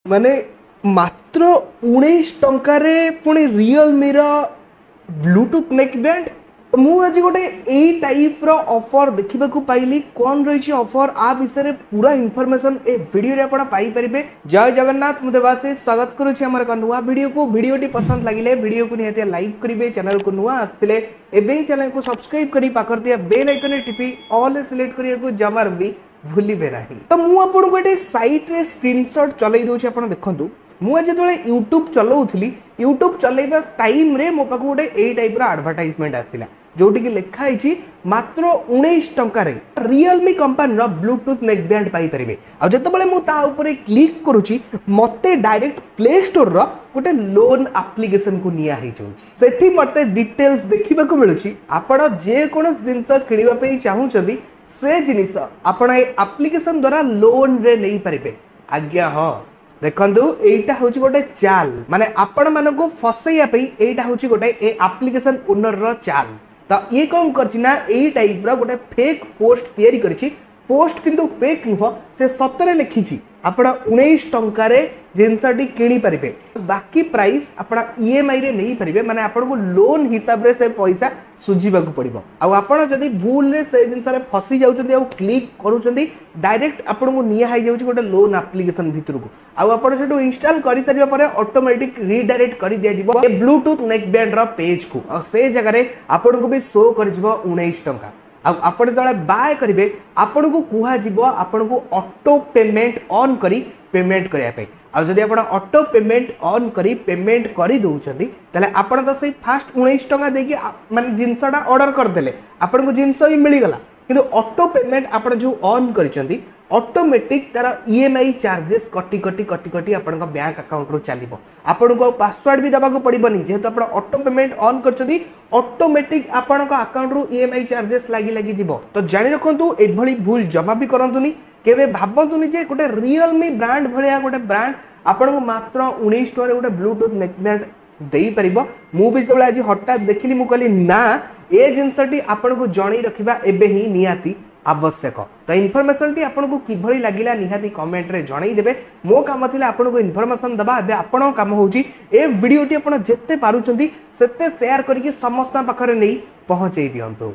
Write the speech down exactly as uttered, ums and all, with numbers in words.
ମାନେ ମାତ୍ର ଉଣେଇଶ ଟଙ୍କାରେ ପୁଣି ରିଅଲମିର ବ୍ଲୁଟୁଥ୍ ନେକ୍ ବ୍ୟାଣ୍ଡ ମୁଁ ଆଜି ଗୋଟେ ଏଇ ଟାଇପ୍ର ଅଫର୍ ଦେଖିବାକୁ ପାଇଲି କ'ଣ ରହିଛି ଅଫର୍ ଆ ବିଷୟରେ ପୁରା ଇନଫର୍ମେସନ୍ ଏ ଭିଡ଼ିଓରେ ଆପଣ ପାଇପାରିବେ ଜୟ ଜଗନ୍ନାଥ ମୁଁ ଦେବାଶିଷ ସ୍ୱାଗତ କରୁଛି ଆମର ଏକ ନୂଆ ଭିଡ଼ିଓକୁ ଭିଡ଼ିଓଟି ପସନ୍ଦ ଲାଗିଲେ ଭିଡ଼ିଓକୁ ନିହାତି ଲାଇକ୍ କରିବେ ଚ୍ୟାନେଲକୁ ନୂଆ ଆସିଥିଲେ ଏବେ ହିଁ ଚ୍ୟାନେଲକୁ ସବସ୍କ୍ରାଇବ୍ କରି ପାଖରେ ଥିବା ବେଲ୍ ଆଇକନରେ ଟିପି ଅଲ୍ ସିଲେକ୍ଟ କରିବାକୁ ଜମାରୁ ବି ଭୁଲିବେ ନାହିଁ ତ ମୁଁ ଆପଣଙ୍କୁ ଏଠି ସାଇଟ୍ରେ ସ୍କ୍ରିନସଟ୍ ଚଲେଇ ଦେଉଛି ଆପଣ ଦେଖନ୍ତୁ ମୁଁ ଆଜି ଯେତେବେଳେ ୟୁଟ୍ୟୁବ୍ ଚଲାଉଥିଲି ୟୁଟ୍ୟୁବ୍ ଚଲେଇବା ଟାଇମ୍ରେ ମୋ ପାଖକୁ ଗୋଟେ ଏଇ ଟାଇପ୍ର ଆଡ଼ଭର୍ଟାଇଜମେଣ୍ଟ ଆସିଲା ଯେଉଁଠିକି ଲେଖା ହେଇଛି ମାତ୍ର ଉଣେଇଶ ଟଙ୍କାରେ ରିଅଲମି କମ୍ପାନୀର ବ୍ଲୁଟୁଥ୍ ନେକ୍ ବ୍ୟାଣ୍ଡ ପାଇପାରିବେ ଆଉ ଯେତେବେଳେ ମୁଁ ତା ଉପରେ କ୍ଲିକ୍ କରୁଛି ମୋତେ ଡାଇରେକ୍ଟ ପ୍ଲେ ଷ୍ଟୋରର ଗୋଟେ ଲୋନ୍ ଆପ୍ଲିକେସନକୁ ନିଆ ହେଇଯାଉଛି ସେଠି ମୋତେ ଡିଟେଲ୍ସ ଦେଖିବାକୁ ମିଳୁଛି ଆପଣ ଯେକୌଣସି ଜିନିଷ କିଣିବା ପାଇଁ ଚାହୁଁଛନ୍ତି ସେ ଜିନିଷ ଆପଣ ଏ ଆପ୍ଲିକେସନ ଦ୍ୱାରା ଲୋନ୍ରେ ନେଇପାରିବେ ଆଜ୍ଞା ହଁ ଦେଖନ୍ତୁ ଏଇଟା ହେଉଛି ଗୋଟେ ଚାଲ ମାନେ ଆପଣମାନଙ୍କୁ ଫସେଇବା ପାଇଁ ଏଇଟା ହେଉଛି ଗୋଟେ ଏ ଆପ୍ଲିକେସନ ଓନରର ଚାଲ ତ ଇଏ କ'ଣ କରିଛି ନା ଏଇ ଟାଇପ୍ର ଗୋଟେ ଫେକ୍ ପୋଷ୍ଟ ତିଆରି କରିଛି ପୋଷ୍ଟ କିନ୍ତୁ ଫେକ୍ ନୁହଁ ସେ ସତରେ ଲେଖିଛି ଆପଣ ଉଣେଇଶ ଟଙ୍କାରେ ଜିନିଷଟି କିଣିପାରିବେ ବାକି ପ୍ରାଇସ୍ ଆପଣ ଇଏମ୍ଆଇରେ ନେଇପାରିବେ ମାନେ ଆପଣଙ୍କୁ ଲୋନ୍ ହିସାବରେ ସେ ପଇସା ସୁଝିବାକୁ ପଡ଼ିବ ଆଉ ଆପଣ ଯଦି ଭୁଲରେ ସେ ଜିନିଷରେ ଫସି ଯାଉଛନ୍ତି ଆଉ କ୍ଲିକ୍ କରୁଛନ୍ତି ଡାଇରେକ୍ଟ ଆପଣଙ୍କୁ ନିଆ ହେଇଯାଉଛି ଗୋଟେ ଲୋନ୍ ଆପ୍ଲିକେସନ ଭିତରକୁ ଆଉ ଆପଣ ସେଠୁ ଇନଷ୍ଟଲ୍ କରିସାରିବା ପରେ ଅଟୋମେଟିକ୍ ରିଡାଇରେକ୍ଟ କରିଦିଆଯିବ ଏ ବ୍ଲୁଟୁଥ୍ ନେକ୍ ବ୍ୟାଣ୍ଡର ପେଜ୍କୁ ଆଉ ସେ ଜାଗାରେ ଆପଣଙ୍କୁ ବି ଶୋ କରିଯିବ ଉଣେଇଶ ଟଙ୍କା ଆଉ ଆପଣ ଯେତେବେଳେ ବାୟ କରିବେ ଆପଣଙ୍କୁ କୁହାଯିବ ଆପଣଙ୍କୁ ଅଟୋ ପେମେଣ୍ଟ ଅନ୍ କରି ପେମେଣ୍ଟ କରିବା ପାଇଁ ଆଉ ଯଦି ଆପଣ ଅଟୋ ପେମେଣ୍ଟ ଅନ୍ କରି ପେମେଣ୍ଟ କରିଦେଉଛନ୍ତି ତାହେଲେ ଆପଣ ତ ସେଇ ଫାଷ୍ଟ ଉଣେଇଶ ଟଙ୍କା ଦେଇକି ଆ- ମାନେ ଜିନିଷଟା ଅର୍ଡ଼ର କରିଦେଲେ ଆପଣଙ୍କୁ ଜିନିଷ ହିଁ ମିଳିଗଲା କିନ୍ତୁ ଅଟୋ ପେମେଣ୍ଟ ଆପଣ ଯେଉଁ ଅନ୍ କରିଛନ୍ତି ଅଟୋମେଟିକ୍ ତାର ଇ ଏମ୍ I charges କଟି କଟି କଟି କଟି ଆପଣଙ୍କ ବ୍ୟାଙ୍କ ଆକାଉଣ୍ଟରୁ ଚାଲିବ ଆପଣଙ୍କୁ ଆଉ ପାସୱାର୍ଡ଼ ବି ଦେବାକୁ ପଡ଼ିବନି ଯେହେତୁ ଆପଣ ଅଟୋ ପେମେଣ୍ଟ ଅନ୍ କରିଛନ୍ତି ଅଟୋମେଟିକ୍ ଆପଣଙ୍କ ଆକାଉଣ୍ଟରୁ ଇ ଏମ୍ I charges ଲାଗି ଲାଗି ଯିବ ତ ଜାଣି ରଖନ୍ତୁ ଏଭଳି ଭୁଲ ଜମା ବି କରନ୍ତୁନି କେବେ ଭାବନ୍ତୁନି ଯେ ଗୋଟେ ରିଅଲମି ବ୍ରାଣ୍ଡ ଭଳିଆ ଗୋଟେ ବ୍ରାଣ୍ଡ ଆପଣଙ୍କୁ ମାତ୍ର ଉଣେଇଶ ଟଙ୍କାରେ ଗୋଟେ ବ୍ଲୁଟୁଥ୍ ନେକ୍ ବ୍ୟାଣ୍ଡ ଦେଇପାରିବ ମୁଁ ବି ଯେତେବେଳେ ଆଜି ହଠାତ୍ ଦେଖିଲି ମୁଁ କହିଲି ନା ଏ ଜିନିଷଟି ଆପଣଙ୍କୁ ଜଣେଇ ରଖିବା ଏବେ ହିଁ ନିହାତି ଆବଶ୍ୟକ ତ ଇନଫର୍ମେସନଟି ଆପଣଙ୍କୁ କିଭଳି ଲାଗିଲା ନିହାତି କମେଣ୍ଟରେ ଜଣେଇ ଦେବେ ମୋ କାମ ଥିଲା ଆପଣଙ୍କୁ ଇନଫର୍ମେସନ ଦେବା ଏବେ ଆପଣଙ୍କ କାମ ହେଉଛି ଏ ଭିଡ଼ିଓଟି ଆପଣ ଯେତେ ପାରୁଛନ୍ତି ସେତେ ସେୟାର କରିକି ସମସ୍ତଙ୍କ ପାଖରେ ନେଇ ପହଞ୍ଚେଇ ଦିଅନ୍ତୁ